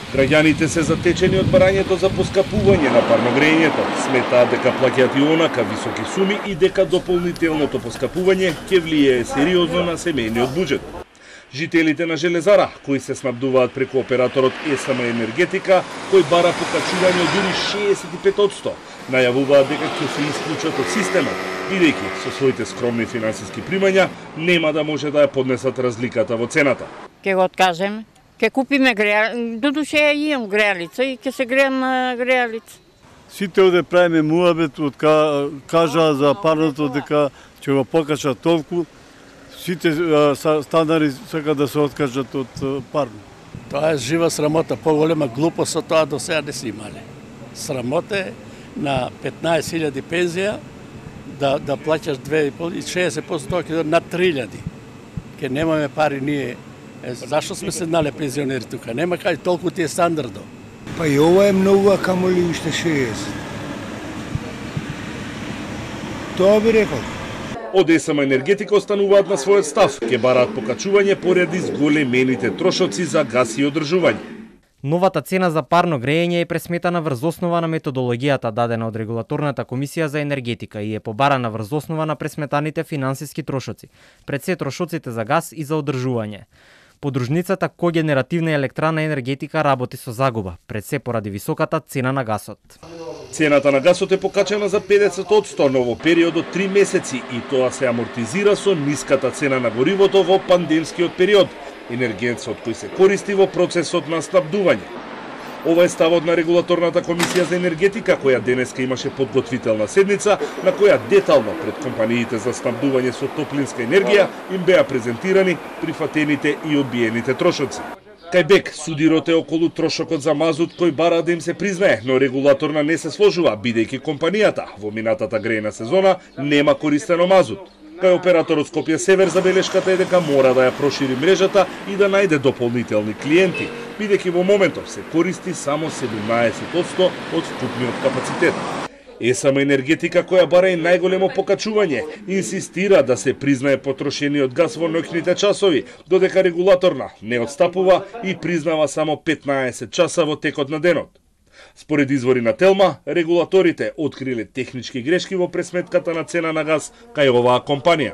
Граѓаните се затечени од барањето за поскапување на парно грејењето. Сметаат дека плаќаат и онака високи суми и дека дополнителното поскапување ќе влијае сериозно на семејниот буџет. Жителите на Железара, кои се снабдуваат преку операторот ЕСМ Енергетика, кој бара покачување од дури 65%, најавуваат дека ќе се исклучат од системот, бидејќи со своите скромни финансиски примања нема да може да ја поднесат разликата во цената. Ке го откажеме. Ке купиме грејалица, додуше ја имам грејалица и ке се греем на грејалица. Сите оде правиме муабет, кажа за парното дека ќе го покачат толку, сите станари сакаат да се откажат од парно. Тоа е жива срамота, поголема глупост од тоа до сега не си имале. Срамота е на 15.000 пензија да плаќаш 2,5 и 60% тоа ќе на 3.000. Ке немаме пари ние. Зашто сме седнале пензионери тука? Нема кај толку ти е стандардо. Па и ова е многу, а камоли уште 60. Тоа би рекол. Од ЕСМ Енергетика остануваат на својот став, ке бараат покачување поради зголемените трошоци за газ и одржување. Новата цена за парно грејење е пресметана врз основа на методологијата дадена од Регулаторната комисија за енергетика и е побарана врз основа на пресметаните финансиски трошоци, пред се трошоците за газ и за одржување. Подружницата когенеративна електрана енергетика работи со загуба, пред се поради високата цена на гасот. Цената на гасот е покачена за 50%, но во период од 3 месеци и тоа се амортизира со ниската цена на горивото во пандемскиот период, енергенцот кој се користи во процесот на снабдување. Ова е ставот на Регулаторната комисија за енергетика, која денеска имаше подготвителна седница, на која детално пред компаниите за снабдување со топлинска енергија им беа презентирани прифатените и одбиените трошоци. Кај БЕК судирот е околу трошокот за мазут кој бара да им се признае, но регулаторна не се сложува, бидејќи компанијата во минатата грејна сезона нема користено мазут. Кај операторот Скопје Север забелешката е дека мора да ја прошири мрежата и да најде дополнителни клиенти, бидејќи во моментов се користи само 17% од вкупниот капацитет. ЕСМ Енергетика, која бара и најголемо покачување, инсистира да се признае потрошениот газ во ноќните часови, додека регулаторна не отстапува и признава само 15 часа во текот на денот. Според извори на Телма, регулаторите откриле технички грешки во пресметката на цена на газ кај оваа компанија.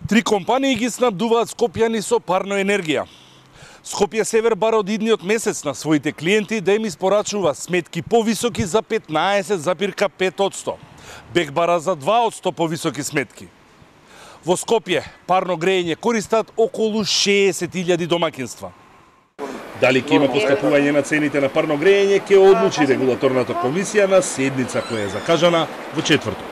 3 компании ги снабдуваат скопјани со парно енергија. Скопје Север бара од идниот месец на своите клиенти да им испорачува сметки повисоки за 15,5%. БЕК бара за 2% повисоки сметки. Во Скопје парно грејење користат околу 60.000 домаќинства. Дали ќе има поскапување на цените на парно грејење, ќе одлучи Регулаторната комисија на седница која е закажана во четврток.